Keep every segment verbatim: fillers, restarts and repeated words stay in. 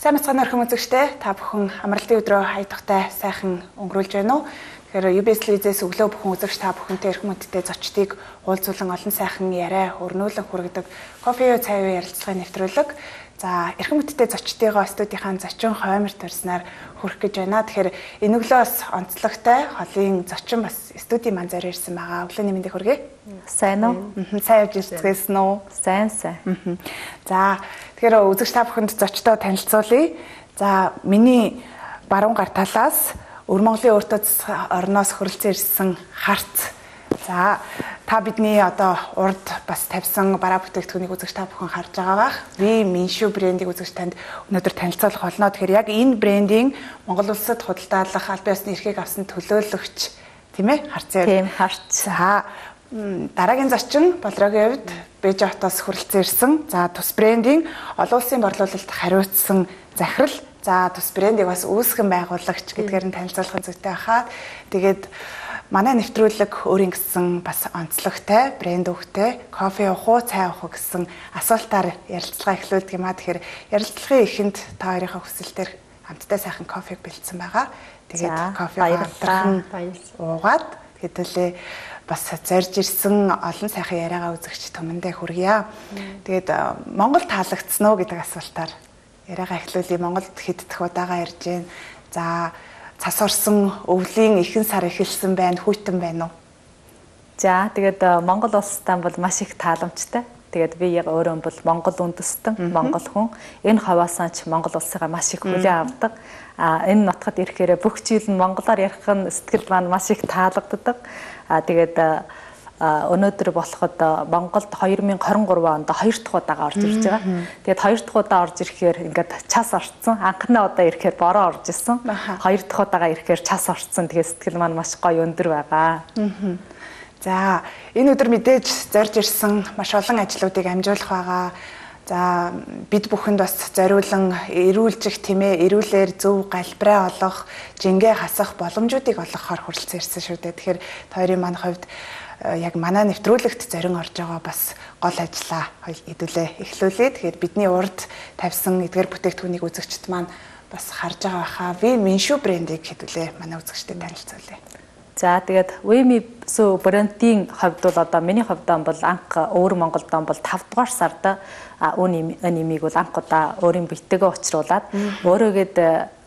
Сайн мэцхан орхон үзэгчтэй та бүхэн амралтын өдрөө хайдахтай сайхан өнгөрүүлж байна уу? Тэгэхээр ю би эс телевизээс өглөө бүхэн үзэгч та бүхэнтэй эрхэм мэдтэй зочдыг уулзуулан олон сайхан яриа өрнүүлэн хүргэдэг кофе уу цай уу ярилцлагын нэвтрүүлэг. За эрхэм мэдтэй зочдыгоо студийнхаа зочин хойморт төрснээр хүрэх гэж байна. Тэгэхээр энэ өглөөс онцлогтой холын зочин бас студийн ман зарь ирсэн байгаа. Өглөөний мэндийг хүргэе. Сайн уу? Сайн явж ирсэн үү? Сайн сайн. За тэгэхээр үзэгч та бүхэнд зочдоо танилцуулъя. За миний баруун гар талаас Өвөр Монголын өөртөө орноос хөрөлцөн ирсэн харц. За та бидний одоо урд бас тавьсан бараа бүтээгдэхүүнийг үзэгч та бүхэн харж байгаа бах. Ви Миншүү брендийг үзэгч танд өнөөдөр танилцуулах болно. Тэгэхээр яг энэ брендийн Монгол улсад худалдаалах аль биесны эрхийг авсан төлөөлөгч тийм ээ харцаа. Тийм харц. За дараагийн зочин Болрогийн хувьд Бежотоос хөрөлцөн ирсэн. За тус брендийн олон улсын борлуулалт хариуцсан захирал. За тус брендийг бас үүсгэн байгуулагч гэдгээр нь танилцуулахын зүйтэй хаа. Тэгээд манай нэвтрүүлэг өөрийн гэсэн бас онцлогтой брэнд өгтэй кофе уух уу цай уух уу гэсэн асуултаар ярилцлага эхлүүлдэг юм а. Тэгэхээр ярилцлагын эхэнд та хоёрынхаа хүсэлтээр хамтдаа сайхан кофег бэлдсэн байгаа. Тэгээд кофе хамтран уугаад хэдүүлээ бас зорж ирсэн олон сайхан яриагаа үзэгч түмэндээ хүргье. Тэгээд Монгол таалагдсан уу гэдэг асуултаар яриагаа эхлүүлээ. Монголд хэд дэх удаага ярьж байна. За цас орсон өвлийн ихэнх сар эхэлсэн байна, хүйтэн байна уу? За тэгээд Монгол улстай бол маш их тааламжтай. Тэгээд би яг өөрөө бол Монгол үндэстэн, Монгол хүн. Энэ хаваасаа ч Монгол улсыгаа маш их хүлээн авдаг. А энэ нутгад ирэхээр бүх жил нь монголоор ярих нь сэтгэл маань маш их таалагддаг. А тэгээд өнөөдөр болоход Монголд хоёр мың хорин гурав онд хоёр дахь удаага орж ирж байгаа. Тэгээд хоёр дахь удаа орж ирэхээр ингээд час орцсон. Анхны удаа ирэхээр бороо орж исэн. Хоёр дахь удаага ирэхээр час орцсон. Тэгээд сэтгэл маань маш гоё өндөр байгаа. За энэ өдөр мэдээж зорж ирсэн маш олон ажлуудыг амжуулах байгаа. За бид бүхэнд бас зориулан эрүүлжих тийм ээ, эрүүлэр зөв галбираа олох, жингээ хасах боломжуудыг олгохоор хүрэлцэн ирсэн шүү дээ. Тэгэхээр тойрын маань хувьд яг манай нэвтрүүлэгт зорин орж байгаа бас гол ажлаа хэдүүлээ эхлүүлээ. Тэгэхээр бидний урд тавьсан эдгээр бүтээгдэхүүнийг үзэгчд маань бас харж байгаа хаа. Ви Миншүү брендийг хэдүүлээ манай үзэгчдэд танилцуулъя. За тэгээд Ви Миншүү брендийн хувьд бол одоо миний хувьд бол анх өвөр Монголд бол тавд дугаар сард үн нэмийг бол анх удаа өөрийн биетэйгээ учруулад өөрөөгээд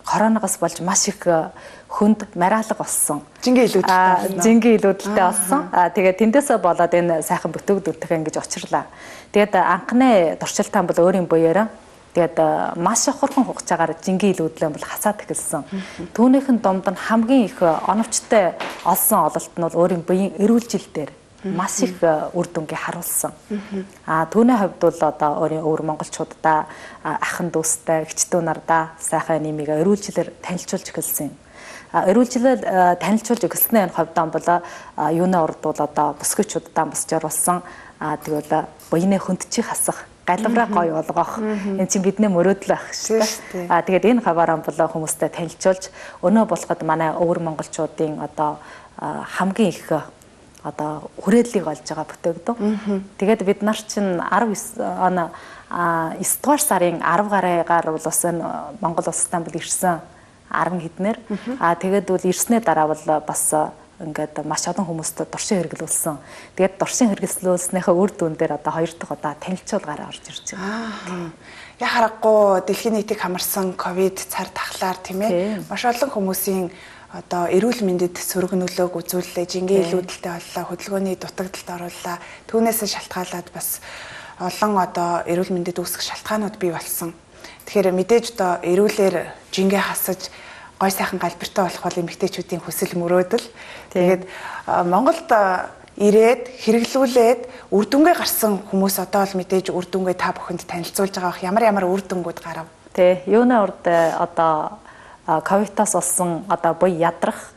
коронавигоос болж маш их хүнд мариалга болсон. Жингээ илүүдэлтэй. Жингээ илүүдэлтэй болсон. Аа тэгээд тэндээсээ болоод энэ сайхан бүтээгдэхүүнтэй ингэж очирлаа. Тэгээд анхны туршилтаа бол өөрийн буяараа тэгээд маш их хурхан хугацаагаар жингээ илүүдлээ бол хасаад эхэлсэн. Түүнийхэн дунд нь хамгийн их оновчтой олсон ололт нь бол өөрийн буян эрүүлжил дээр маш их үр дүнгээ харуулсан. Аа түүний хувьд бол одоо өөрийн өвөр монголчуудаа ахын дүүстэй, эгчдүү нардаа сайхан нэмийг эрүүлжлэр танилцуулж эхэлсэн. Эрүүлжлэл танилцуулж эхэлснээр хувьд бол юуны урд бол одоо бүсгүйчүүддээ бас зориулсан. Аа тэгвэл буйны хөндчих хасах, галбираа гоё болгох энэ чинь бидний мөрөөдөл байх шүү дээ. Аа тэгээд энэ хаваараа бол хүмүүстэй танилцуулж өнөө болоход манай өвөр монголчуудын одоо хамгийн их одоо хүрээллийг олж байгаа бүтээгдэхүүн. Тэгээд бид нар чинь арав он эс дугаар сарын арав гараагаар бол бас Монгол улстай бол ирсэн арван хэднэр. Аа тэгээд бол ирснээр дараа бол бас ингээд маш олон хүмүүст дуршин хэрэглүүлсэн. Тэгээд дуршин хэрэглүүлснийхээ үр дүн дээр одоо хоёр дахь удаа танилцуулгаараа орж ирж байгаа. Яг харахгүй дэлхийн нийтийг хамарсан ковид цар тахлаар тийм ээ маш олон хүмүүсийн одоо эрүүл мэндэд сөрөг нөлөөг үзүүллээ, жингээ илүүдэлтэй боллоо, хөдөлгөөний дутагдалд оруулаа. Түүнээс шалтгаалаад бас олон одоо эрүүл мэндэд үүсэх шалтгаанууд бий болсон. Тэгэхээр мэдээж одоо эрүүлэр жингээ хасаж гой сайхан галбиртай болох бол эмэгтэйчүүдийн хүсэл мөрөөдөл. Тэгээд Монголд ирээд хэрэглүүлээд үр дүнгээ гарсан хүмүүс одоо л мэдээж үр дүнгээ та бүхэнд танилцуулж байгаа бах. Ямар ямар үр дүнгууд гарав? Тэ, юуны урд одоо ковидоос олсон одоо буй ядрах,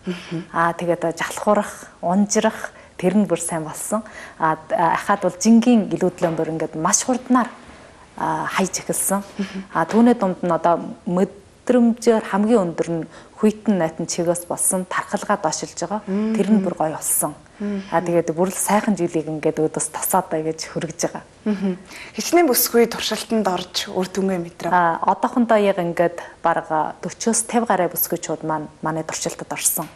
аа тэгээд жалхуурах, унжрах тэр нь бүр сайн болсон. Аа ахаад бол жингийн илүүдлэн бүр ингээд маш хурднаар хайж эхэлсэн. Аа түүний дунд нь одоо мэдрэмжээр хамгийн өндөр нь хүйтэн найтан чигээс болсон тархалгаа дошилж байгаа. Тэр нь бүр гоё болсон. А тэгээд бүр л сайхан жилийг ингээд өдөөс тасаад байж хүргэж байгаа. Хичнээн бүсгүй туршилтанд орж үр дүнгээ мэдрээ. А одоохондоо яг ингээд бараг forty-с fifty гаруй бүсгүйчүүд маань манай туршилтад орсон.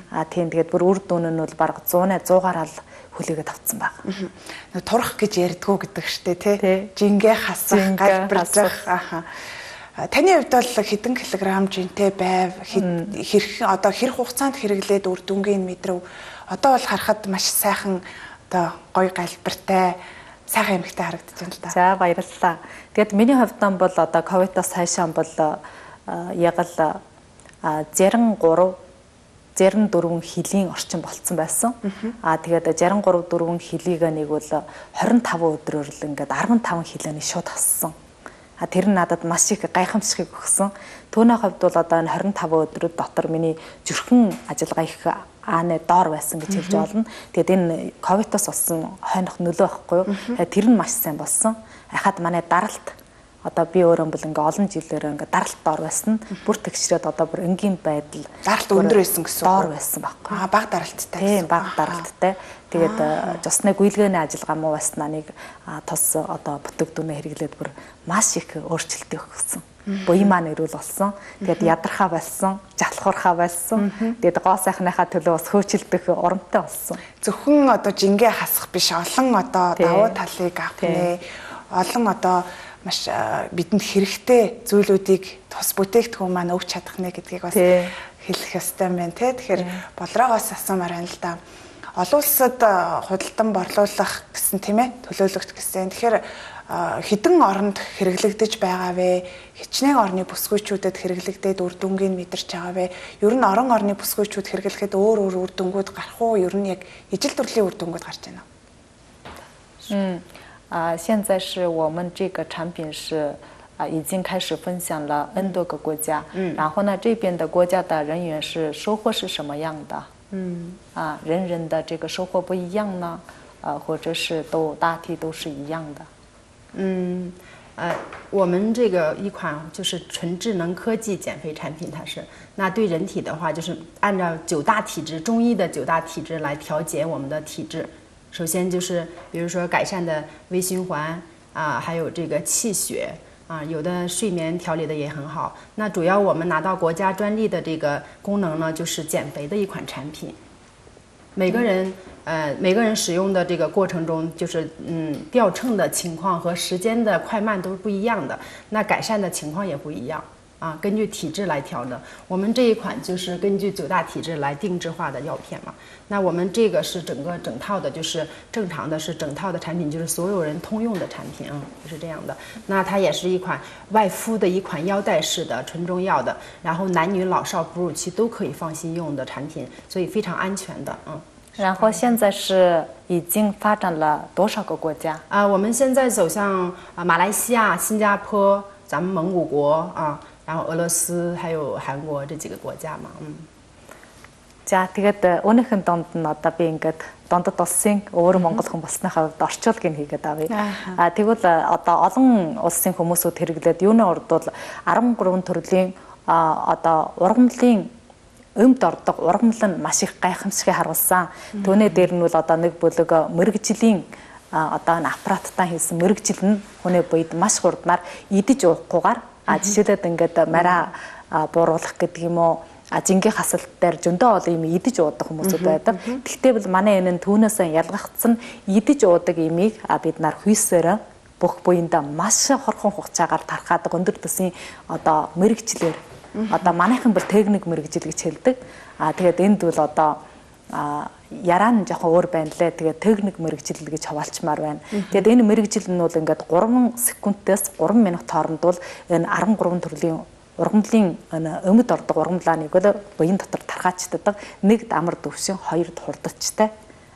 А тийм тэгээд бүр үр дүн нь бол бараг one hundred гараал хүлээгээд авцсан баг. Нэг турах гэж ярьдгүү гэдэг штэ тий. Жингээ хасах, галбиржих. Аха. Таны хувьд бол хэдэн килограмм жинтэй байв? Хэрэг одоо хэрэг хугацаанд хэрэглээд үр дүнгийн мэдрв. Одоо бол харахад маш сайхан одоо гоё галбиртай сайхан эмэгтэй харагдаж байна л да. За баярлалаа. Тэгэд миний хувьд бол одоо ковидоос хойшоо бол яг л sixty-three sixty-four хилийн орчим болцсон байсан. Аа тэгээд sixty-three four хилийг нэг бол twenty-five өдрөөр л ингээд fifty-five хилээний шууд хассан. А тэр нь надад маш их гайхамшигыг өгсөн. Түүний хувьд бол одоо энэ twenty-five өдрүүд дотор миний зүрхэн ажиллагаа их ааны доор байсан гэж хэлж болно. Тэгээд энэ ковидоос болсон хойнох нөлөө байхгүй юу? Тэр нь маш сайн болсон. Ахад манай даралт одоо би өөрөө бол ингээ олон жилээр ингээ даралт доор байсан. Бүр тэгшрээд одоо бүр энгийн байдал даралт өндөр байсан гэсэн үг. Доор байсан байхгүй. Аа бага даралттай. Тийм бага даралттай. Тэгээд жусны гүйлгээний ажиллагаа муу байснаа нэг тус одоо бүтээгдэхүүнээ хэрэглээд бүр маш их өөрчлөлт өгсөн. Буян маань эрүүл болсон. Тэгээд ядархаа болсон, жалхуурхаа болсон. Тэгээд гоо сайхныхаа төлөө бас хөөцөлдөх урамтай болсон. Зөвхөн одоо жингээ хасах биш, олон одоо давуу талыг авах нэ. Олон одоо маш бидэнд хэрэгтэй зүйлүүдийг тус бүтээгдэхүүн маань өгч чадах нэ гэдгийг бас хэлэх ёстой юм байна те. Тэгэхээр болроогоос асуумаар байна л да. Олон улсад худалдан борлуулах гэсэн тийм ээ төлөөлөгч гэсэн. Тэгэхээр хэдэн оронд хэрэглэгдэж байгаа вэ? Хичнээн орны бүсгүйчүүдэд хэрэглэгдээд үр дүнгийг мэдэрч байгаа вэ? Ер нь орон орны бүсгүйчүүд хэрэглэхэд өөр өөр үр дүнгууд гарах уу? Ер нь яг ижил төрлийн үр дүнгууд гарч байна. 嗯，啊，现在是我们这个产品是啊已经开始分享了 N 多个国家，嗯，然后呢这边的国家的人员是收获是什么样的？嗯，啊，人人的这个收获不一样呢，呃，或者是都大体都是一样的。嗯，呃，我们这个一款就是纯智能科技减肥产品，它是那对人体的话，就是按照九大体质中医的九大体质来调节我们的体质。首先就是比如说改善的微循环啊，还有这个气血啊，有的睡眠调理的也很好。那主要我们拿到国家专利的这个功能呢，就是减肥的一款产品。每个人。呃，每个人使用的这个过程中，就是嗯掉秤的情况和时间的快慢都是不一样的，那改善的情况也不一样啊，根据体质来调的。我们这一款就是根据九大体质来定制化的药片嘛。那我们这个是整个整套的，就是正常的是整套的产品，就是所有人通用的产品啊，是这样的。那它也是一款外敷的一款腰带式的纯中药的，然后男女老少哺乳期都可以放心用的产品，所以非常安全的，嗯。然后现在是已经发展了多少个国家？啊，我们现在走向啊马来西亚、新加坡、咱们蒙古国啊，然后俄罗斯还有韩国这几个国家嘛，嗯。За тэгээд өнөөхөн донд нь одоо би ингээд дондод улсын өөр монгол хүн болсныхаа хувьд орчуулгыг хийгээд авъя. А тэгвэл одоо олон улсын хүмүүсүүд хэрэглээд юуны урд бол thirteen төрлийн одоо ургамлын өмд ордог ургамал нь маш их гайхамшигыг харуулсан. Түүний дээр нь бол одоо нэг бүлэг мэрэгжлийн одоо н аппараттаа хийсэн мэрэгжил нь хүний буйд маш хурднаар идэж уухгүйгээр а жишээлбэл ингээд мараа бууруулах гэдэг юм уу жингийн хасалт дээр зөндөө олон юм идэж уудаг хүмүүсүүд байдаг. Гэхдээ бол манай энэ нь түүнээсээ ялгагдсан идэж уудаг имийг бид нар хүйсээр бүх буйндаа маш хорхон хугацаагаар тархаадаг өндөр төсийн одоо мэрэгчлэр одоо манайхан бол техник мэрэгжил гэж хэлдэг. А тэгээд энд бол одоо яраа нь жоохон өөр байна лээ. Тэгээд техник мэрэгжил гэж хаваалчмаар байна. Тэгээд энэ мэрэгжил нь бол ингээд three секундээс three минут хооронд бол энэ thirteen төрлийн ургамлын өмд ордог ургамлааныг бол буян дотор тархаачдаг. Нэг амар дөвшин, хоёр хурдчтай.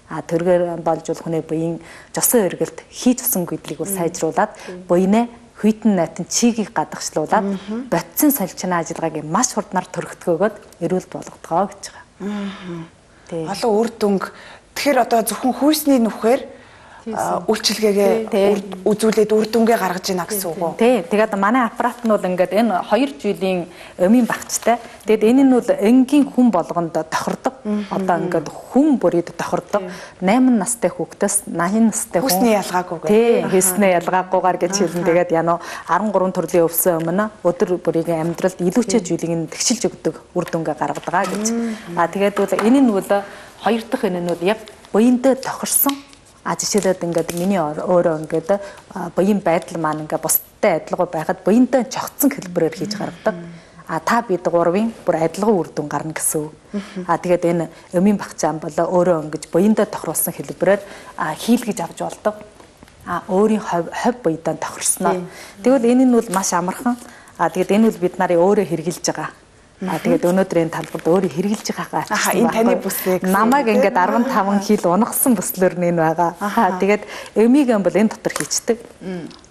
А тэргээр болж бол хүний буян жосон эргэлт хийж усан гэдлийг бол сайжруулад буянаа хүйтэн найтан чигийг гадагшлуулад бодсон солилцооны ажиллагааг маш хурднаар төрөгдгөөгөөд эрүүл болгодгоо гэж байгаа. Олон үр дүнг. Тэгэхээр одоо зөвхөн хүйсний нүхээр үйлчилгээгээ үзүүлээд үр дүнгээ гаргаж ийна гэсэн үг үү? Тий. Тэгээд манай аппарат нь бол ингээд энэ two жилийн өмийн багцтай. Тэгээд энэ нь бол энгийн хүн болгонд тохирдог. Одоо ингээд хүн бүрийд тохирдог найман настай хүүхдээс наян настай хүн хүсний ялгаагүй гэх. Тий, хүснээ ялгаагүйгээр гэж хэлэн тэгээд яно арван гурван төрлийн өвсөн өмнө өдөр бүрийн амьдралд илүүчээ зүйлийг тэгшилж өгдөг үр дүнгээ гаргадаг гэж. А тэгээд бол энэ нь бол хоёр дахь энэ нь бол яг буянтай тохирсон. А жишээлбэл ингээд миний өөрөө ингээд буян байдал маань ингээд бусдтай адилгүй байхад буянтай чогтсон хэлбэрээр хийж гаргадаг. А та бид гурвын бүр адилхан үр дүн гарна гэсэн үг. А тэгээд энэ өмийн багцаан бол өөрөө ингэж буянтай тохируулсан хэлбэрээр хийлгэж авч болдог. А өөрийн хов хов буянтай тохирсноо. Тэгвэл энэ нь бол маш амархан. А тэгээд энэ бол бид нарын өөрөө хэрэгжилж байгаа. А тэгээд өнөөдрийн талбарт өөрөө хэрэгжилж байгаагаа ачсан. Энэ таны бүсээ гэсэн. Намайг ингээд арван таван хил унагсан бүслэр нь энэ байгаа. Аа тэгээд өмийг бол энэ дотор хийчдэг.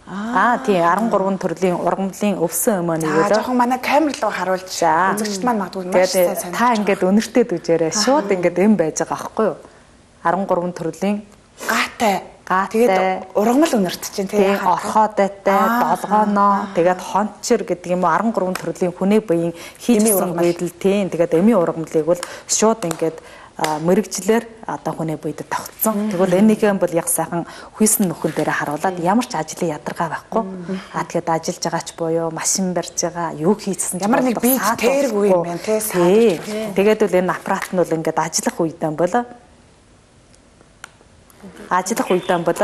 Аа тий арван гурван төрлийн ургамлын өвсөн өмөө нэгээр. Аа жоохон манай камер руу харуулж үзэгчд маань магадгүй маш сайн санаж. Та ингээд өнөртөө дүжээрээ шууд ингээд эм байж байгаа байхгүй юу? арван гурван төрлийн гаатай тэгээд ургамал өнөрт чинь тийм орхоодайтай долгооноо тэгээд хончор гэдэг юм уу арван гурван төрлийн хүнээ буян хийжсэн байдал тийм тэгээд эми ургамлыг бол шууд ингээд мэрэгчлэр одоо хүнээ буйд тогтсон. Тэгвэл энийхэн бол яг сайхан хүйсэн нөхөн дээр харуулад ямар ч ажлын ядаргаа байхгүй. А тэгээд ажиллаж байгаач буюу машин барьж байгаа, юу хийсэн ямар нэг бие тэргүй юм байна тийм. Тэгээд бол энэ аппарат нь бол ингээд ажиллах үедээ бол ажиллах үедээ бол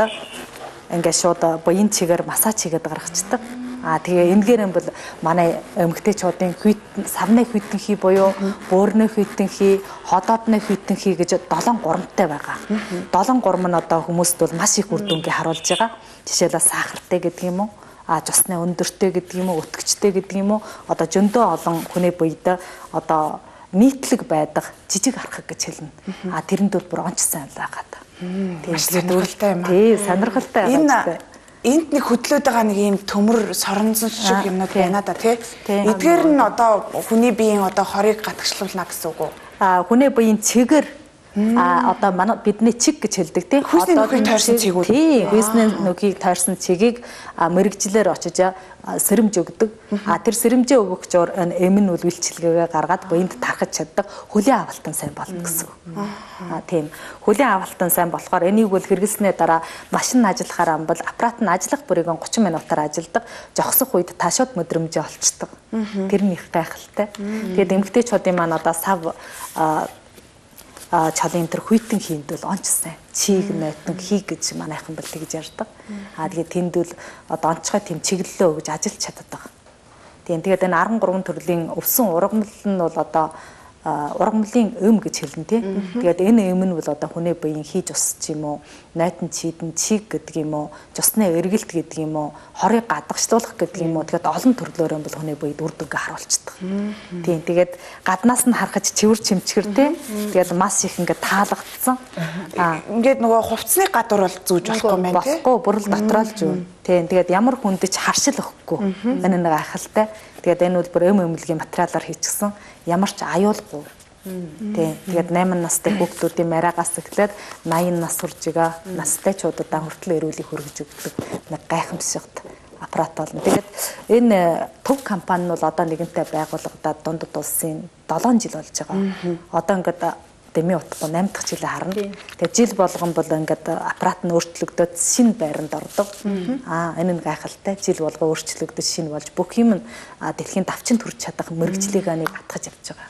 ингээд шууд буян чигээр массаж хийгээд гаргацдаг. А тэгээ энэгээр нь бол манай эмэгтэйчүүдийн хүйт савны хүйтэнхий буюу бөөрнө хүйтэнхий, ходоодны хүйтэнхий гэж долоон гурамтай байгаа. Долоон гурам нь одоо хүмүүст бол маш их үр дүнгээ харуулж байгаа. Жишээлбэл сахартай гэдэг юм уу? А цусны өндөртэй гэдэг юм уу? Өтгчтэй гэдэг юм уу? Одоо зөндөө олон хүнээ буйд одоо нийтлэг байдаг жижиг архаг гэж хэлнэ. А тэрэнд бол бүр онц сайн байгаад. Тийм сонирхолтой юм аа. Тий, сонирхолтой байгаа. Энд нэг хөдлөөд байгаа нэг юм төмөр соронзон шиг юмнууд байна да тий. Эдгээр нь одоо хүний биеийн одоо хорийг гатгчлуулна гэсэн үг үү? А хүний биеийн чигээр а одоо манай бидний чиг гэж хэлдэг тий. Хүйсний нүхийг тойрсон чиг үү? Тий, хүйсний нүхийг тойрсон чигийг мэрэгжлэр очиж сэрэмж өгдөг. А тэр сэрэмжээ өгөх зур эм нь үл үйлчилгээгээ гаргаад буйнд тархаж чаддаг. Хөлийн авалтан сайн болно гэсэн үг. А тийм. Хөлийн авалтан сайн болохоор энийг бол хэрэглэснээр дараа машин ажиллахаар амбал аппарат нь ажиллах бүрийг гучин минутаар ажилдаг. Жогсох үед таашууд мэдрэмжээ олцдог. Тэр нь их гайхалтай. Тэгээд эмэгтэйчүүдийн маань одоо сав а чалын тэр хүйтэн хийнд бол онц сайн чиг нойтон хий гэж манайхан бол тэгж ярьдаг. А тэгээд тэнд бол одоо онцгой тэм чиглэлөө гэж ажиллаж чаддаг. Тийм тэгээд энэ арван гурван төрлийн өвсөн ургамал нь бол одоо ургамлын өм гэж хэлнэ тий. Тэгээд энэ өм нь бол одоо хүний биеийн хийж усч юм уу, нойтон чийдэн чиг гэдэг юм уу, цусны эргэлт гэдэг юм уу, хорыг гадагшлуулах гэдэг юм уу. Тэгээд олон төрлөөр бол хүний биед үр дүнгээ харуулцдаг. Тийм тэгээд гаднаас нь харахад цэвэр чимчгэр тий. Тэгээд мас их ингээд таалагдсан. Аа ингээд нөгөө хувцсны гадуур бол зүүж болохгүй юм байна тий. Болохгүй бүрэл дотроо л зүүн. Тийм тэгээд ямар хүндэж харшил өгөхгүй. Энэ нэг айхалтай. Тэгээд энэ бол бүр эм эмнэлгийн материалаар хийчихсэн. Ямар ч аюулгүй. Тийм. Тэгээд найман настай хүүхдүүдийн мараагаас эхлээд наян нас хүрж байгаа настайчуудаа хүртэл эрүүлийг хөргөж өгдөг нэг гайхамшигт аппарат болно. Тэгээд энэ төв компани нь бол одоо нэгэнтээ байгуулагдаад дундад улсын долоон жил болж байгаа. Одоо ингээд дэмий утгагүй найман дахь жилээ харна. Тэгээд жил болгон бол ингээд аппарат нь өөрчлөгдөд шинэ байранд ордог. Аа энэ нь гайхалтай. Жил болгоо өөрчлөгдөж шинэ болж бүх юм нь дэлхийн давчин төрж чадах мэрэгжлийг аныг атгаж явж байгаа.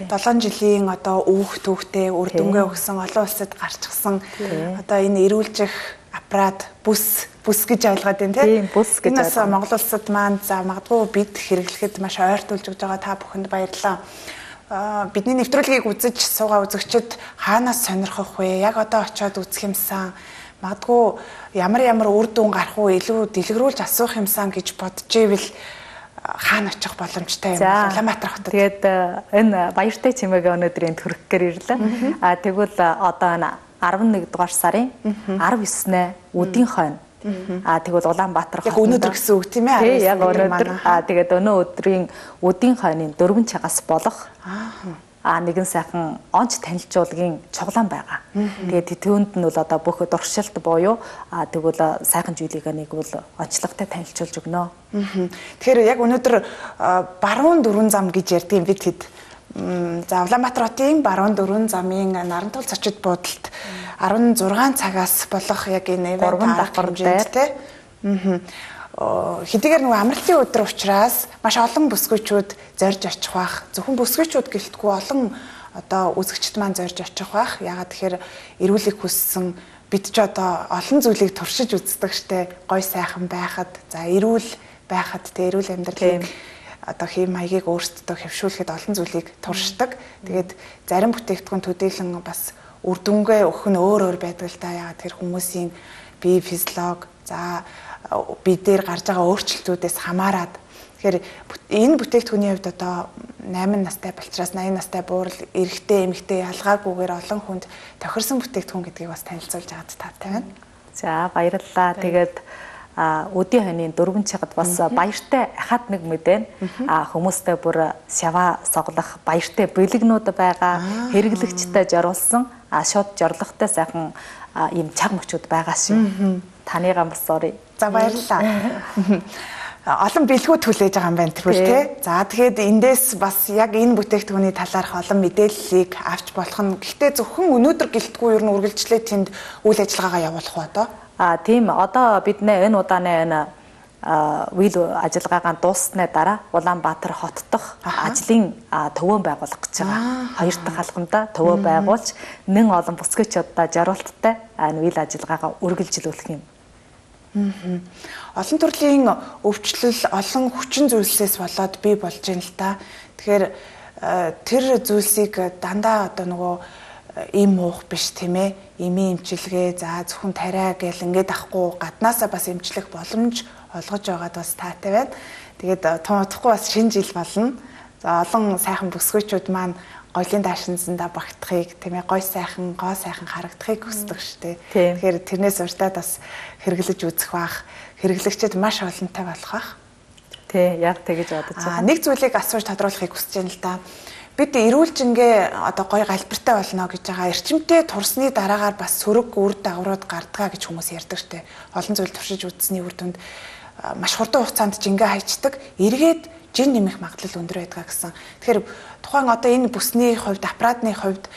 долоон жилийн одоо өөх төвхтэй үр дүнгээ өгсөн олон улсад гарчсан одоо энэ эрүүлжих аппарат бүс бүс гэж ойлгоод байна тийм бүс гэж байна. Монгол улсад маань за магадгүй бид хэрэглэхэд маш ойртуулж өгж байгаа та бүхэнд баярлалаа. Бидний нэвтрүүлгийг үзэж суугаа үзэгчид хаанаас сонирхох вэ? Яг одоо очиод үзэх юмсан магадгүй ямар ямар үр дүн гарах уу илүү дэлгэрүүлж асуух юмсан гэж бодож ивэл хаана очих боломжтой юм бэ? Улаанбаатар хотод. Тэгээд энэ баяртай чимээгээ өнөөдрийн төрөхгээр ирлээ. А тэгвэл одоо энэ арван нэг дугаар сарын арав есний өдийн хойно а тэгвэл Улаанбаатар хотод өнөөдөр гэсэн үг тийм ээ. Тий, яг өнөөдөр. А тэгээд өнөө өдрийн өдийн хойны дөрвөн цагаас болох а нэгэн сайхан онц танилцуулгын цуглаан байгаа. Тэгээд түүнд нь бол одоо бүх дуршилт буюу а тэгвэл сайхан зүйлийг нэг бол онцлогтой танилцуулж өгнө. Тэгэхээр яг өнөөдөр баруун дөрвөн зам гэж ярьдаг юм бид хэд За Улаанбаатар хотын баруун дөрвөн замын Нарантул зочид буудалд арван зургаан цагаас болох яг энэ гурван давхар дээр те. Аа хэдийгээр нөгөө амралтын өдөр учраас маш олон бүсгүйчүүд зорж очих бах. Зөвхөн бүсгүйчүүд гэлтгүй олон одоо үзэгчд маань зорж очих бах. Ягаад тэгэхээр эрүүлэг хүссэн бид ч одоо олон зүйлийг туршиж үздэг штэ. Гой сайхан байхад, за эрүүл байхад те эрүүл амьдралыг одоо хэм маягийг өөрсдөө хэвшүүлэхэд олон зүйлийг туршдаг. Тэгээд зарим бүтээгдэхүүн төдийлөн бас үр дүнгээ өгөх нь өөр өөр байдаг л да. Ягаад тэр хүмүүсийн бие физиолог, за бие дээр гарч байгаа өөрчлөлтүүдээс хамаарат. Тэгэхээр энэ бүтээгдэхүүний хувьд одоо найман настай болчраас наян настай буурал эрэгтэй эмэгтэй ялгаагүйгээр олон хүнд тохирсон бүтээгдэхүүн гэдгийг бас танилцуулж байгаад таатай байна. За баярлалаа. Тэгээд өдийн хойны дөрвөн чигад бас баяртай ахад нэг мэдэн хүмүүстэй бүр шава соглох баяртай бэлэгнүүд байгаа, хэрэглэгчтэй зориулсан шууд зорилготой сайхан ийм цаг мөчүүд байгаа шүү. Таны гамбар sorry. За баярлалаа. Олон бэлгүүд хүлээж байгаа юм байна тэрхүү те. За тэгэхээр эндээс бас яг энэ бүтээгдэхүүний талаарх олон мэдээллийг авч болох нь. Гэхдээ зөвхөн өнөөдөр гэлтгүй ер нь үргэлжлээ тэнд үйл ажиллагаагаа явуулах уу одоо? А тийм одоо бид нэ энэ удааны энэ үйл ажиллагаагаа дууссаны дараа Улаанбаатар хот дахь ажлын төвөө байгуулах гэж байгаа. Хоёр дахь алхамдаа төвөө байгуулж нэн олон бүсгүйчүүдтэй зориулттай энэ үйл ажиллагаагаа үргэлжлүүлэх юм. Олон төрлийн өвчлөл, олон хүчин зүйлсээс болоод бий болж байна л та. Тэгэхээр тэр зүйлсийг дандаа одоо нөгөө им муух биш тийм ээ. Имийн эмчилгээ, за зөвхөн тариа гэл ингээд ахгүй гаднаасаа бас эмчлэх боломж олгож байгаад бас таатай байна. Тэгээд тун удахгүй бас шинэ жил болно. За олон сайхан бүсгүйчүүд маань гоёлын даашинзандаа багтахыг тийм ээ гой сайхан, гоо сайхан харагдахыг хүсдэг шүү дээ. Тэгэхээр тэрнээс урьдаад бас хэрэглэж үзэх бах, хэрэглэгчид маш олонтой болох бах. Тий, яг тэгэж бодож байгаа. Нэг зүйлийг асууж тодруулахыг хүсэж байна л да. Бид эрүүлжингээ одоо гоё галбиртай болно гэж байгаа. Эрчимтэй турсны дараагаар бас сөрөг үр дагаврууд гардгаа гэж хүмүүс ярьдаг штэ. Олон зүйл туршиж үзсний үр дүнд маш хурдан хугацаанд жингээ хайчдаг. Эргээд жин нэмэх магадлал өндөр байдаг гэсэн. Тэгэхээр тухайн одоо энэ бүсний хувьд, аппаратны хувьд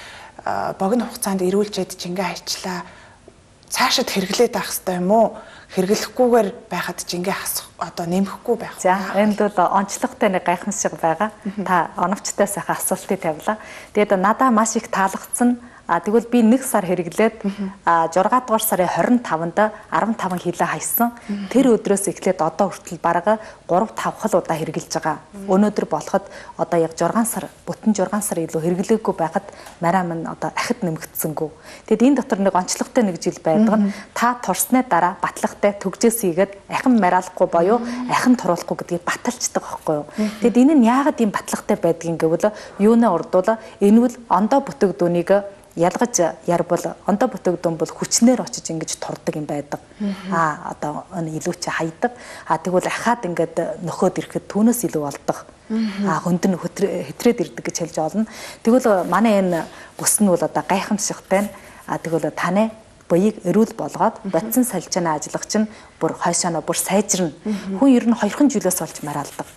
богино хугацаанд эрүүлжээд жингээ хайчлаа. Цаашид хэрэглээд авах хэрэгтэй юм уу? Хэрэглэхгүйгээр байхад жингээ хасах одоо нэмэхгүй байх. За энд бол онцлогтой нэг гайхамшиг байгаа. Та оновчтой сайхан асуултыг тавилаа. Тэгээд надаа маш их таалагдсан. А тэгвэл би нэг сар хэрэглээд а зургаадугаар сарын хорин таванд арван таван хилээ хайсан. Тэр өдрөөс эхлээд одоо хүртэл бараг гурав тавх удаа хэрэгжилж байгаа. Өнөөдөр болоход одоо яг зургаан сар, бүтэн зургаан сар илүү хэрэглээгүй байхад мараа минь одоо ахид нэмэгдсэнгүү. Тэгэд энэ дотор нэг онцлогтой нэг жил байдаг нь та турсны дараа батлагтай төгжөөс хийгээд ахин мараалахгүй боيو ахин туруулахгүй гэдгийг баталцдаг байхгүй юу. Тэгэд энэ нь яагаад ийм батлагтай байдгийг гэвэл юунаа урдуула энэ бол ондоо бүтээгдүүнийг ялгаж ярбал ондоо бүтээгдэхүүн бол хүчнээр очиж ингэж турдаг юм байдаг. Аа одоо илүү ч хайдаг. Аа тэгвэл ахаад ингээд нөхөд ирэхэд түүнээс илүү болдог. Аа хөндөн хэтрээд ирдэг гэж хэлж олно. Тэгвэл манай энэ бүс нь бол одоо гайхамшигтай. Аа тэгвэл таны буйг эрүүл болгоод бодсон салжааны ажиллагч нь бүр хойшооноо бүр сайжирна. Хүн ер нь хоёрхан жилээс олж мараалдаг.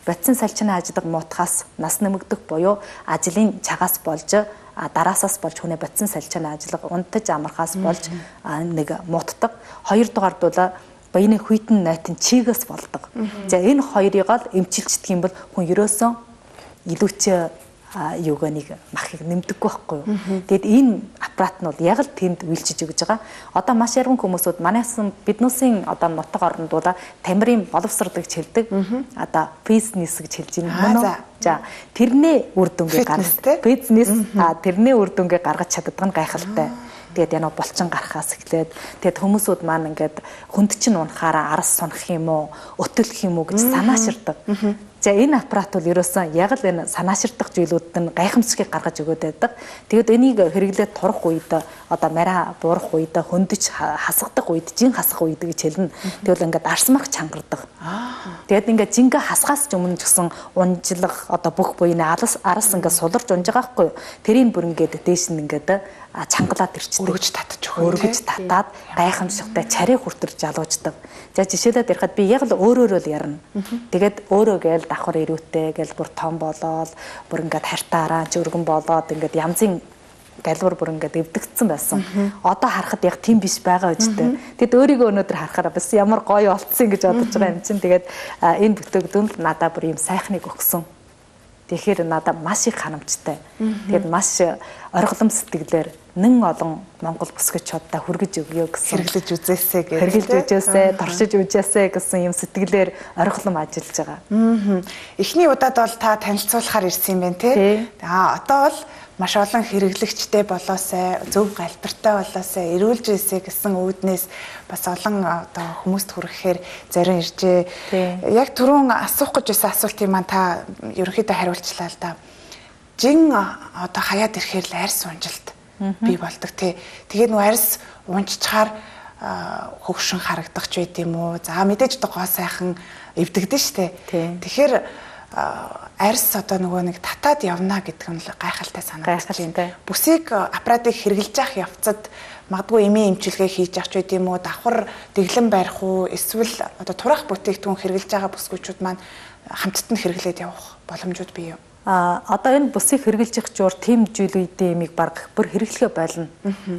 Бодсон салжааны ажиллаг муутахаас нас нэмэгдэх буюу ажлын цагаас болж дараасаас болж хүнээ бодсон салжааны ажиллага унтаж амархаас болж нэг муутдаг. Хоёрдугаар бол баяны хүйтэн найтын чигээс болдог. За энэ хоёрыг л эмчилждэг юм бол хүн ерөөсөө илүүч юугаа нэг махыг нэмдэггүй байхгүй юу. Тэгэд энэ аппарат нь бол яг л тэнд үйлчиж өгж байгаа. Одоо маш ярган хүмүүсүүд манайсан биднүүсийн одоо нутаг оронд бол тамирын боловсрол гэж хэлдэг. Одоо бизнес гэж хэлж байна мөн үү? За тэрний үр дүнгээ гаргах бизнес а тэрний үр дүнгээ гаргаж чаддаг нь гайхалтай. Тэгээд яна булчин гарахаас эхлээд тэгээд хүмүүсүүд маань ингээд хүнд чинь унахаараа арас сунах юм уу, өтөлөх юм уу гэж санааширдаг. За энэ аппарат бол ерөөсөн яг л энэ санааширдаг зүйлүүд нь гайхамшигыг гаргаж өгöd байдаг. Тэгээд энийг хэрэглээд турах үед одоо мараа буурах үед хөндөж хасгадаг үед жин хасах үед гэж хэлнэ. Тэгвэл ингээд арсмарх чангардаг. Тэгээд ингээд жингээ хасгаас ч өмнө ч гэсэн унжлах одоо бүх буйны арас арас ингээд суларч унж байгаа байхгүй юу. Тэрийг бүр ингээд дээш нь ингээд чангалаад ирчихдэг. Өргөж татаж өгөх. Өргөж татаад гайхамшигтай царай хүртэр жалууждаг. За жишээлээд ярихад би яг л өөрөөрөө л ярина. Тэгээд өөрөө гээл давхар ирүүтэй гээл бүр том болоод бүр ингээд хартаараа ч өргөн болоод ингээд янзын галбар бүр ингээд эвдэгдсэн байсан. Одоо харахад яг тийм биш байгаа үстэй. Тэгэд өөрийгөө өнөөдөр харахаар бас ямар гоё болцсон гэж бодож байгаа юм чинь. Тэгээд энэ бүтээгдэхүүн надад бүр юм сайхныг өгсөн. Тэгэхээр надад маш их харамжтай. Тэгээд маш оргилом сэтгэлээр нэн олон Монгол бүсгүйчүүдтэй хүргэж өгье гэсэн. Хэрэглэж үзээсэй гэж. Хэрэглэж үзээсэй, туршиж үзээсэй гэсэн юм сэтгэлээр оргилом ажиллаж байгаа. Эхний удаад бол та танилцуулахаар ирсэн юм байна тий. Аа одоо бол маш олон хэрэглэгчтэй болоосай, зөв галбартай болоосай, эрүүлж ийсэй гэсэн үүднээс бас олон одоо хүмүүст хүрэхээр зарим иржээ. Яг түрүүн асуух гэж байсан асуултыг маань та ерөнхийдөө хариулчлаа л да. Жин одоо хаяад ирэхээр л арьс унжилт бий болдог тий. Тэгээд нөө арьс унжчихаар хөгшин харагдах ч байд юм уу. За мэдээж одоо гоо сайхан эвдэгдэн штэ. Тэгэхээр арьс одоо нөгөө нэг татаад явна гэдэг нь л гайхалтай санагдаж байна. Бүсийг аппаратыг хэрэглэж явах явцад магадгүй эмийн эмчилгээ хийж явах ч байд юм уу. Давхар дэглэн барих уу эсвэл одоо турах бүтээгдэхүүн хэрэглэж байгаа бүсгүйчүүд маань хамтд нь хэрэглээд явах боломжууд бий юу? А одоо энэ бүсийг хэрэгжилж явах зур тийм зүйл үедээ ямиг баг бүр хэрэглэхэ болно.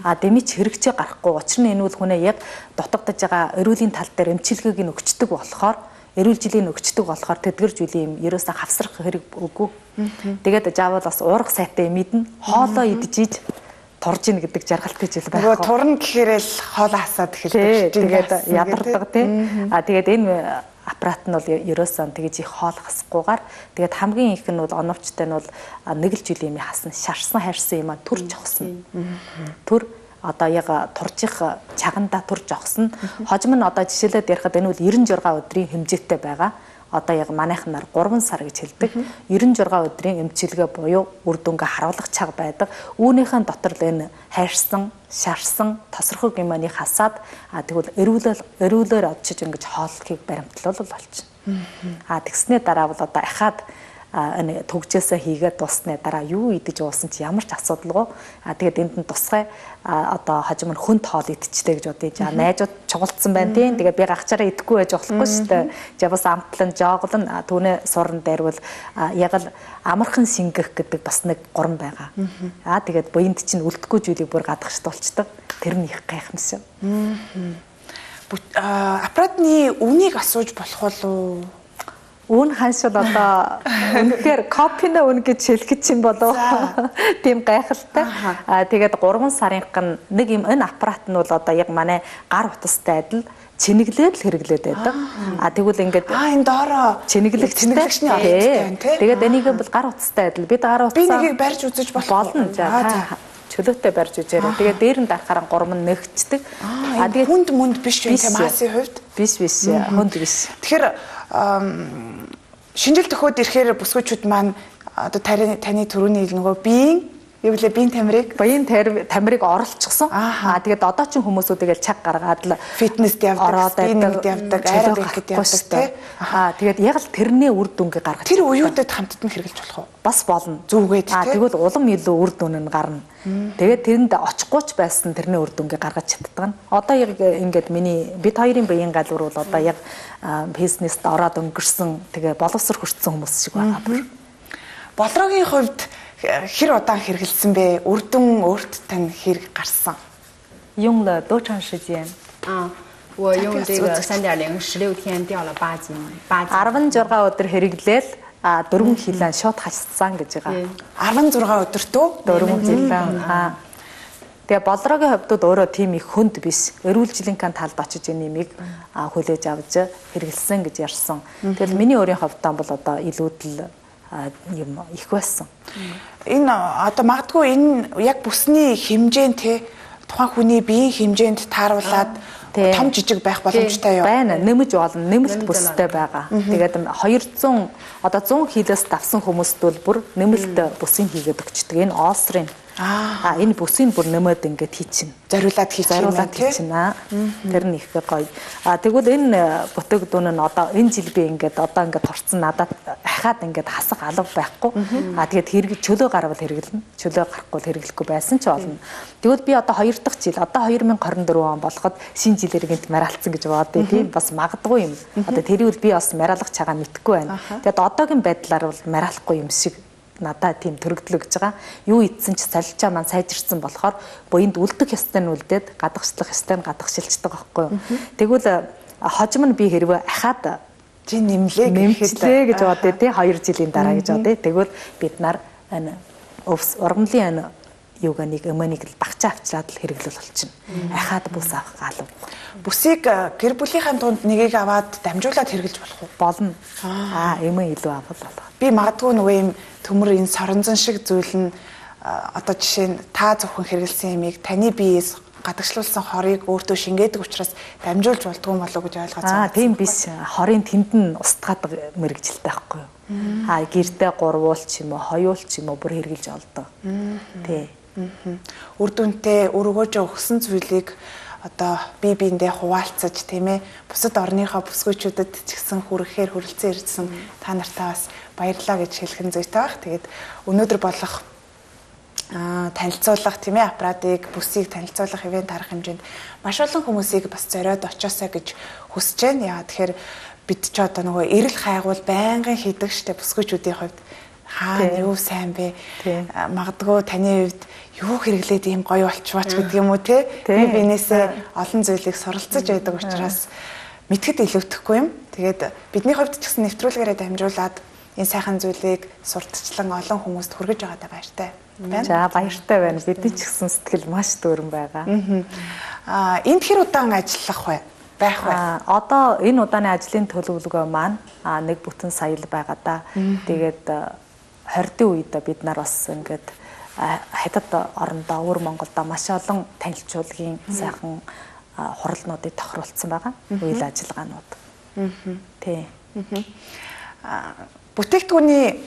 А дэмич хэрэгжээ гарахгүй. Учир нь энэ бол хүнээ яг дутагдж байгаа эрүүлийн тал дээр эмчилгээг нь өгчдөг болохоор эрүүл жилийн өгчдөг болохоор тэдгэр зүйлийн юм ерөөсөө хавсрах хэрэг үгүй. Тэгээд жаавал бас уурах сайтай мэднэ. Хоолоо идэж турж ийн гэдэг жаргалтай жил байх. Нөгөө турна гэхээр л хоолоо хасаад эхэлдэг. Тэгээд ядардаг тий. А тэгээд энэ аппарат нь бол ерөөсөн тэгж их хоол хасахгүйгээр тэгээд хамгийн их нь бол оновчтой нь бол нэг л жилийн юм хасна шарсан хайрсан юм а төр жогсон. Төр одоо яг туржих чагандаа төр жогсон. Хожим нь одоо жишээлээд ярихад энэ бол девяносто шесть өдрийн хэмжээтэй байгаа. Одоо яг манайхнаар гурван сар гэж хэлдэг. девяносто шесть өдрийн эмчилгээ буюу үр дүнгээ харуулах чаг байдаг. Үүнийхэн дотор л энэ хайрсан, шарсан, тосрохог юманы хасаад а тэгвэл эрүүлэл эрүүлээр одчиж ингэж хооллохыг баримтлуулал болчихно. А тэгснээ дараа бол одоо ахаад энэ төгжөөсөө хийгээд дуусны дараа юу идэж уусан чи ямар ч асуудалгүй. А тэгээд энд нь тусгай одоо хожим нь хүнд хоол идчихтэй гэж бодъё. За найзууд чугалдсан байна тийм. Тэгээд би гагчаараа идэхгүй байж болохгүй шүү дээ. За бас амтлан жооглон түүнээ суран дайрвал яг л амархан шингэх гэдэг бас нэг гурам байгаа. А тэгээд буйнд чинь үлдэхгүй зүйлийг бүр гадагшлуулцдаг. Тэр нь их гайхамшиг. Аппаратны үнийг асууж болох уу? Үн ханшил одоо үнэхээр копино үн гэж хэлэх чинь болов тийм гайхалтай. Аа тэгээд гурван сарынхан нэг юм энэ аппарат нь бол одоо яг манай гар утастай адил чинэглээд л хэрэглээд байдаг. Аа тэгвэл ингээд аа энэ доороо чинэглэгчний оролцоотой тийм. Тэгээд энийг бол гар утастай адил бид гар утас би нэгийг барьж үзэж болно. За чөлөөтэй барьж үзээрэй. Тэгээд дээр нь дарахаар гурам нь нэгчдэг. Аа тэгээд хүнд мүнд биш юм тийм масын хувьд биш биш хүнд биш. Тэгэхээр шинжил төхөөд ирэхээр бүсгүйчүүд маань одоо таны таны төрөний нөгөө биеийн юу вэ биеийн тамирыг биеийн тамирыг оруулчихсан. Аа тэгээд одоо ч хүмүүсүүд тэгэл чаг гаргаад л фитнест явдаг, спиннинг явдаг, аэробикд явдаг тий. Аа тэгээд яг л тэрний үр дүнгээ гаргаж. Тэр уюутад хамтд нь хэрэгжилж болох уу? Бас болно. Зүгээд тий. Аа тэгвэл улам илүү үр дүн нь гарна. Тэгээд тэрэнд очихгүй ч байсан тэрний үр дүнгээ гаргаж чаддаг нь. Одоо яг ингээд миний бид хоёрын биеийн галбар бол одоо яг бизнест ороод өнгөрсөн тэгээ боловсрол хүртсэн хүмүүс шиг байгаа бүр. Болрогийн хувьд хэр удаан хэрэгэлсэн бэ? Үр дүн өөрт тань хэрэг гарсан? 用了多长时间？啊，我用这个三点零十六天掉了八斤，八斤。十六өдөр хэрэглээл а дөрвөн килон шууд хассан гэж байгаа. 십육 өдөртөө дөрвөн килон. Аа. Тэгээ болрогийн хувьд өөрөө тийм их хүнд биш. Эрүүл жилийнхэн талд очиж энэ нэмийг хүлээж авч хэрэгэлсэн гэж ярьсан. Тэгэл миний өөрийн хувьдаа бол одоо илүүдл юм их байсан. Энэ одоо магадгүй энэ яг бүсний хэмжээнд те тухайн хүний биеийн хэмжээнд тааруулаад том жижиг байх боломжтой юу? Байна. Нэмж болно. Нэмэлт бүстэй байгаа. Тэгээд двести одоо сто килоос давсан хүмүүст бол бүр нэмэлт бүсийг хийгээд өгчдөг. Энэ Олсрын Аа энэ бүсийн бүр нэмээд ингээд хийчихнэ. Зориулаад хийчихнэ. Зориулаад хийчихнэ. Тэр нь их гоё. Аа тэгвэл энэ бүтээгдэхүүн нь одоо энэ жил би ингээд одоо ингээд турцсан надад ахаад ингээд хасах алга байхгүй. Аа тэгээд хэрэг чөлөө гарвал хэрэглэнэ. Чөлөө гарахгүй хэрэглэхгүй байсан ч болно. Тэгвэл би одоо хоёр дахь жил одоо две тысячи двадцать четыре он болоход шинэ жилээр гинт маралцсан гэж бодъё тийм бас магадгүй юм. Одоо тэрийг би бас маралгах чагаа мэдхгүй байна. Тэгээд одоогийн байдлаар бол маралахгүй юм шиг надад тийм төрөгдлөө гэж байгаа. Юу ийдсэн ч солилцоо маань сайжирсан болохоор буянд үлдэх ёстой нь үлдээд гадагшлах ёстой нь гадагшилчдаг байхгүй юу. Тэгвэл хожим нь би хэрвээ ахаад чи нэмлээ гэхэлээ гэж бодъё тий хоёр жилийн дараа гэж бодъё. Тэгвэл бид нар энэ ургамлын юуг нэг эмэнийг багчаа авчраад л хэрэглэл болчихно. Ахаад бүс авах галав. Бүсийг гэр бүлийнхаа дунд нэгийг аваад дамжуулаад хэрэглэж болох уу? Болно. Аа эмээ илүү авах болох. Би магадгүй нөгөө юм төмөр энэ соронзон шиг зүйл нь одоо жишээ нь та зөвхөн хэрэгэлсэн ямиг таны биеэс гадагшлуулсан хорыг өөртөө шингээдэг учраас дамжуулж болдгоо юм болов уу гэж ойлгож байгаа. Аа тийм биш. Хорын тэнд нь устгадаг мэрэгжилтэй байхгүй юу? Аа гэртээ гурвуул ч юм уу, хоёул ч юм уу бүр хэрэгжилж олдог. Тий. Үр дүнтэй өргөөж өгсөн зүйлийг одоо бие биендээ хуваалцаж тийм ээ бусад орныхоо бүсгүйчүүдэд ч гэсэн хүрэхээр хүрэлцэн ирсэн та нартаа бас баярлалаа гэж хэлэх нь зүйтэй баг. Тэгээд өнөөдөр болох аа танилцуулах тийм ээ аппаратыг бүсийг танилцуулах ивент арга хэмжээнд маш олон хүмүүсийг бас зориод очоосаа гэж хүсэж байна. Яа тэгэхээр бид ч одоо нөгөө эрэл хайгуул байнгын хийдэг штэ бүсгүйчүүдийн хувьд хаана юу сайн бэ? Магадгүй таны хувьд юу хэрэглээд ийм гоё болчихваач гэдэг юм уу те? Би бинээсээ олон зүйлийг суралцаж байдаг учраас мэдхэд илүүдэхгүй юм. Тэгээд бидний хувьд ч гэсэн нэвтрүүлгээрээ дамжуулаад энэ сайхан зүйлийг сурталчлан олон хүмүүст хүргэж байгаадаа баяртай байна. За баяртай байна. Бидний ч гэсэн сэтгэл маш дүүрэн байгаа. Аа энд хэр удаан ажиллах вэ? Байх вэ? Одоо энэ удааны ажлын төлөвлөгөө маань нэг бүтэн сая л байгаа да. Тэгээд хордын үед бид нар бас ингээд хятад орондоо өвөр Монголдо маш олон танилцуулгын сайхан хуралнуудыг тохируулсан байгаа. Үйл ажиллагаанууд. Тий. Бүтээгдэхүүний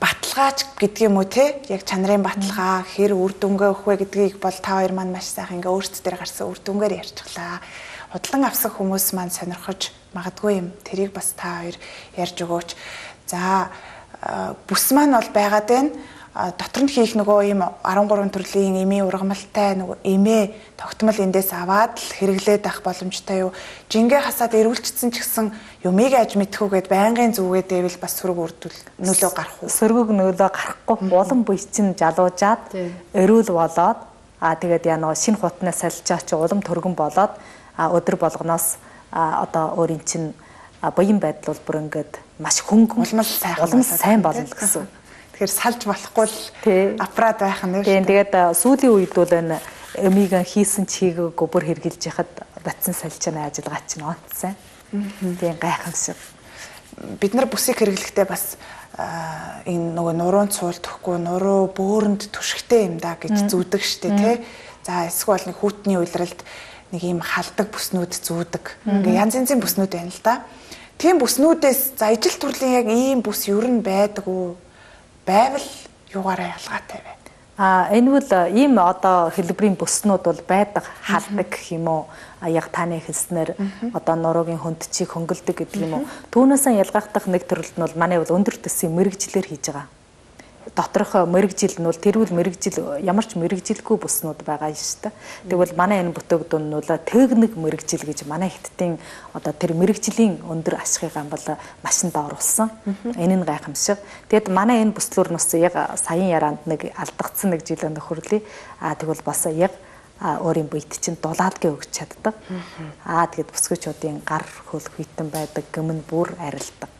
баталгаач гэдэг юм уу те? Яг чанарын баталгаа хэр үр дүнгээ өгөх вэ гэдгийг бол та хоёр маань маш сайхан ингээ өөрсдөө гарсан үр дүнгээр ярьчихлаа. Худлан авсан хүмүүс маань сонирхож магадгүй юм. Тэрийг бас та хоёр ярьж өгөөч. За бүс маань бол байгаад байна. Дотор нь хийх нөгөө ийм арван гурван төрлийн эмийн ургамалтай нөгөө эмээ тогтмол эндээс аваад л хэрэглээд авах боломжтой юу? Жингээ хасаад эрүүлчихсэн ч гэсэн юмыг аж мэдхүүгээд байнгын зүгээд байвал бас сөрөг үрдүүл нөлөө гарах уу? Сөргөг нөлөө гарахгүй улам буй чинь жалуужаад эрүүл болоод аа тэгээд яа нөгөө шинэ хутнаа салжаа чи улам төргөн болоод өдөр болгоноос одоо өөрийн чинь буян байдал бол бүр ингээд маш хөнгөн улам сайхан улам сайн болно гэсэн. Тэгэхээр салж болохгүй л аппарат байх нь тийм тэгээд сүүлийн үед бол энэ эмийг хийсэн чигийг бүр хэрглэж яхад батсан салжааны ажиллагаа чинь онцсан. Тийм гайхамшиг. Бид нар бүсийг хэрэглэхдээ бас энэ нөгөө нуруунд суулдахгүй нуруу бөөрөнд түшигтэй юм да гэж зүүдэг штэ тий. За эсвэл нэг хүүтний уйлралд нэг юм халдаг бүснүүд зүүдэг. Ингээ янз янзын бүснүүд байна л да. Тийм бүснүүдээс за ижил төрлийн яг ийм бүс ер нь байдаг уу? Байвал юугаараа ялгаатай вэ? А энэ бол ийм одоо хэлбэрийн бүснүүд бол байдаг халдаг гэх юм уу? Яг таны хэлснээр одоо нуруугийн хөндчийг хөнгөлдөг гэдэг юм уу? Түүнээсээ ялгахдах нэг төрөлд нь бол манай бол өндөр төсвийн мэрэгжлэр хийж байгаа. Доторх мэрэгжил нь бол тэрүүл мэрэгжил ямар ч мэрэгжилгүй бүснүүд байгаа юм шүү дээ. Тэгвэл манай энэ бүтээгдэхүүн нь бол техник мэрэгжил гэж манай хятадын одоо тэр мэрэгжлийн өндөр ашигыг бол машин дооруулсан. Энэ нь гайхамшиг. Тэгэд манай энэ бүслүүр нь бас яг саяын яраанд нэг алдагдсан нэг жилийн нөхөрлөе. Аа тэгвэл бас яг өөрийн буйд чинь дулаалгийн өгч чаддаг. Аа тэгэд бүсгүйчүүдийн гар хөл хүйтэн байдаг гэмн бүр арилдаг.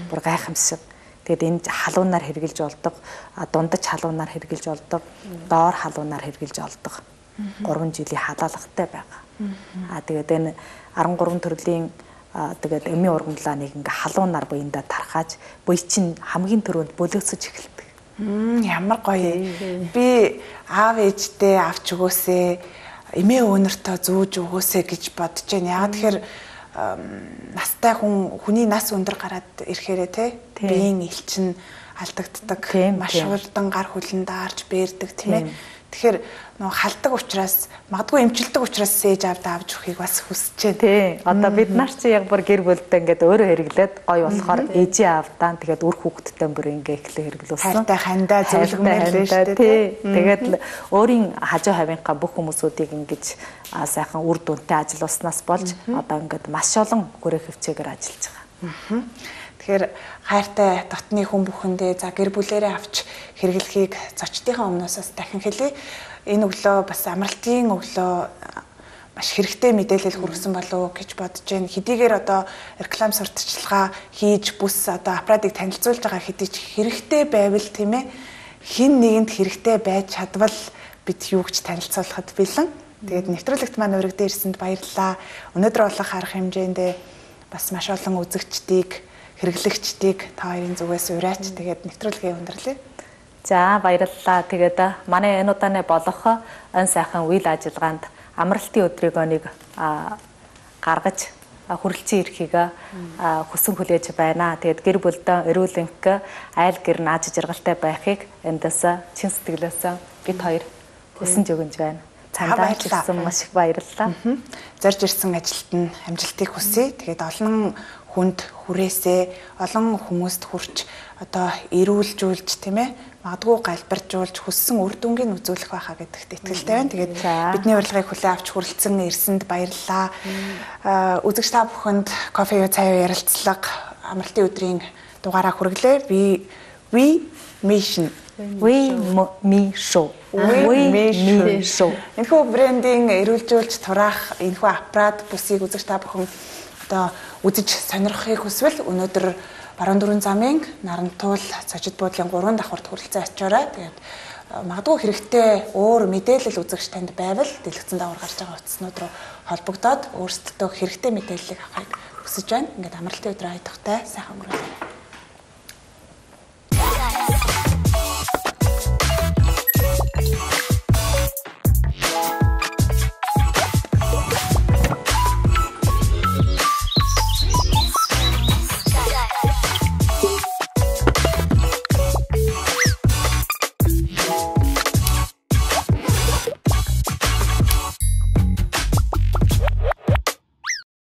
Бүр гайхамшиг. Тэгээд энэ халуунаар хэрглэж болдог, дундаж халуунаар хэрглэж болдог, доор халуунаар хэрглэж болдог. гурван жилийн халаалгатай байгаа. Аа тэгээд энэ арван гурван төрлийн тэгээд эмийн ургамлаа нэг ингээ халуунаар буяндаа тархааж, буй чинь хамгийн түрүүнд бөлөөсөж эхэлдэг. Ямар гоё. Би аав ээжтэй авч өгөөсэй, эмээ өвнөртөө зүүж өгөөсэй гэж бодож байна. Яагаад тэгэхээр настай хүн хүний нас өндөр гараад ирэхээрээ те биеийн элчин алдагддаг. Маш хурдан гар хүлэн даарч бэрдэг тийм ээ. Тэгэхээр нөө халдаг учраас магадгүй эмчилдэг учраас сээж авд авч өгөхийг бас хүсэж байна. Тий. Одоо бид нар чи яг бүр гэр бүлдээ ингээд өөрөө хэрэглээд гоё болохоор ээжээ авдаан тэгээд үр хүүхдтэй бүр ингээд эхлээ хэрэглүүлсэн. Хайртай хандаа зөвлөгмөрлөө шүү дээ. Тэгээд өөрийн хажуу хавийнхаа бүх хүмүүсүүдийг ингэж сайхан үр дүнтэй ажилласнаас болж одоо ингээд маш олон хүрээ хөвчөөгөр ажиллаж байгаа. Тэгэхээр хайртай дотны хүн бүхэндээ за гэр бүлээрээ авч хэрэглэхийг зочдынхаа өмнөөс дахин хэлье. Энэ өглөө бас амралтын өглөө маш хэрэгтэй мэдээлэл хүргэсэн болов уу гэж бодож байна. Хэдийгээр одоо реклам сурталчилгаа хийж бүс одоо аппаратыг танилцуулж байгаа хэдий ч хэрэгтэй байвал тийм ээ хин нэгэнд хэрэгтэй байж чадвал бид юу гэж танилцуулахад бэлэн. Тэгээд нэвтрүүлэгт маань өргөдөө ирсэнд баярлалаа. Өнөөдөр болох арга хэмжээндээ бас маш олон үзэгчдийг хэрэглэгчдийг та хоёрын зүгээс ураач тэгээд нэвтрүүлгээ өндөрлөе. За баярлалаа. Тэгээд манай энэ удааны болох өн сайхан үйл ажиллагаанд амралтын өдрийг нэг гаргаж хүрэлцэн ирэхийг хүсэн хүлээж байна. Тэгээд гэр бүлдээ эрүүл энх айл гэр нааж жаргалтай байхыг эндээс чин сэтгэлээс бид хоёр хүсэж өгнж байна. Цаандаа ирсэн маш их баярлалаа. Зорж ирсэн ажилд нь амжилтыг хүсье. Тэгээд олон хүнд хүрээсээ олон хүмүүст хүрч одоо эрүүлжүүлж тийм ээ магадгүй галбаржуулж хүссэн үр дүнгийг үзүүлэх байхаа гэдэгт итгэлтэй байна. Тэгээд бидний урилгыг хүлээн авч хүрэлцэн ирсэнд баярлалаа. Үзэгч та бүхэнд кофе юу цай ярилцлага амралтын өдрийн дугаараа хүргэлээ. We we mission We me show. We me show. Энэхүү брендинг эрүүлжүүлж тураах энэхүү аппарат бүсийг үзэгч та бүхэн одоо үзэж сонирхохыг хүсвэл өнөөдөр баруун дөрвөн замын Нарантуул цочид буудлын гурван давхурд хүрэлцэн очиорой. Тэгээд магадгүй хэрэгтэй өөр мэдээлэл үзэгч танд байвал дэлгэцэн даавар гарч байгаа утаснууд руу холбогдоод өөрсдөө хэрэгтэй мэдээллийг авахыг хүсэж байна. Ингээд амралтын өдрөө хайдахтай сайхан өнгөрөөлөе.